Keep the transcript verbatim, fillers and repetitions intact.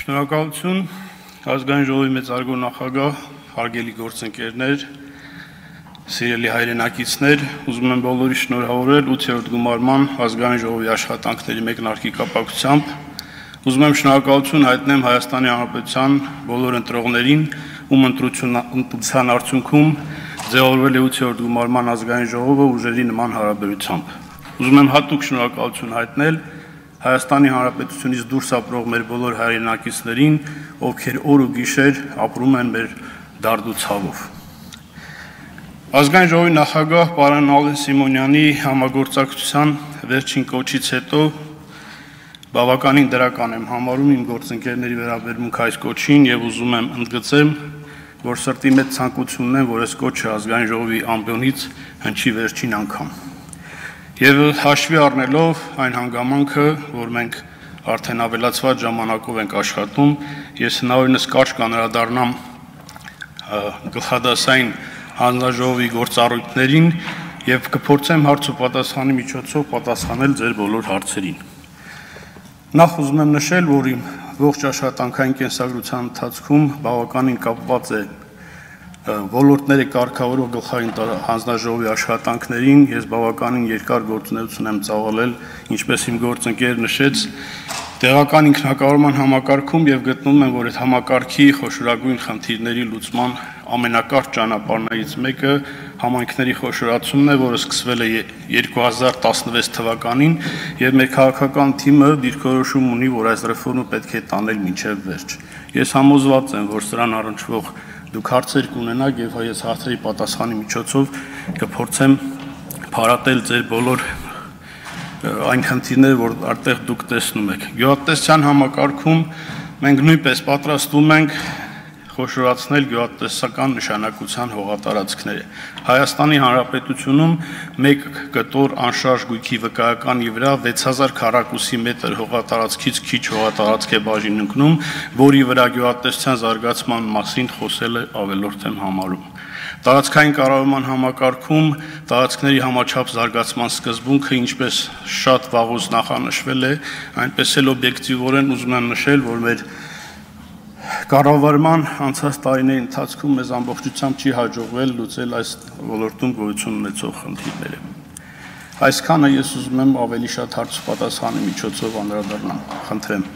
Շնորհակալություն, ազգային ժողովի մեծարգո նախագահ, հարգելի գործընկերներ, սիրելի հայրենակիցներ, ուզում եմ բոլորի շնորհավորել ութերորդ գումարման ազգային ժողովի աշխատանքների մեկնարկի կապակցությամբ, ուզում եմ շնորհակալություն հայտնեմ Հայաստանի Հանրապետության բոլոր ընտրողներին, ում ընտրության արդյունքում ձևավորվել է ութերորդ գումարման ազգային ժողովը ուժերի նման հարաբերությամբ։ Ուզում եմ հատուկ շնորհակալություն հայտնել Հայաստանի Հանրապետությունից դուրս ապրող մեր բոլոր հայրենակիցներին, ովքեր օր ու գիշեր ապրում են մեր դարդու ցավով։ Ազգային ժողովի նախագահ պարոն Ալեն Սիմոնյանի համագործակցության վերջին կոչից հետո բավականին դրական եմ համարում իմ գործընկերների վերաբերմունք այս կոչին եւ ուզում եմ ընդգծեմ, որ սրտի մեջ ցանկություն ունեմ, որ այս կոչը ազգային ժողովի ամբիոնից հնչի վերջին անգամ։ Եվ հաշվի առնելով այն հանգամանքը, որ մենք արդեն ավելացված ժամանակով ենք աշխատում, ես հնարավորինս կարճ կանրադառնամ գլխադասային հանձնաժողովի գործառույթներին եւ կփորձեմ հարց ու պատասխանի միջոցով պատասխանել ձեր բոլոր հարցերին։ Նախ ուզում եմ նշել, որ իմ ողջ աշխատանքային կենսագրության ընթացքում բավականին կապված է ոլորտների կարգավորող գլխային հանձնաժողովի աշխատանքներին, ես բավականին երկար գործունեություն եմ ծավալել, ինչպես իմ գործընկերը նշեց, տեղական ինքնակառավարման համակարգում եւ գտնում եմ, որ այդ համակարգի խոշորագույն խնդիրների լուծման ամենակարճ ճանապարհներից մեկը համայնքների խոշորացումն է, որը սկսվել է երկու հազար տասնվեց թվականին եւ մեր քաղաքական թիմը դիրքորոշում ունի, որ այս ռեֆորմը պետք է տանել մինչեւ վերջ։ Ես համոզված եմ, որ սրան առնչվող դուք հարցեր կունենաք եւ ես հարցերի պատասխանի միջոցով կփորձեմ փարատել ձեր բոլոր այն խնդիրները, որ այդտեղ դուք տեսնում եք։ Գյուղատնտեսության համակարգում մենք նույնպես պատրաստվում ենք խոշորացնել գյուղատնտեսական նշանակության հողատարածքները։ Հայաստանի Հանրապետությունում մեկ կտոր անշարժ գույքի վկայականի վրա վեց հազար քառակուսի մետր հողատարածքից քիչ հողատարածք է բաժին ընկնում, որի վրա գյուղատնտեսության զարգացման մասին խոսելը ավելորդ եմ համարում։ Տարածքային կառավարման համակարգում տարածքների համաչափ զարգացման սկզբունքը ինչպես շատ վաղուց նախանշվել է, այնպես էլ օբյեկտիվորեն ուզում եմ նշել, որ մեր կառավարման անցած տարիների ընթացքում մեզ ամբողջությամբ չի հաջողվել լուծել այս ոլորտում գոյություն ունեցող խնդիրները։ Այսքանը ես ուզում եմ ավելի շատ հարց ու պատասխանի միջոցով անդրադառնամ։ Խնդրեմ։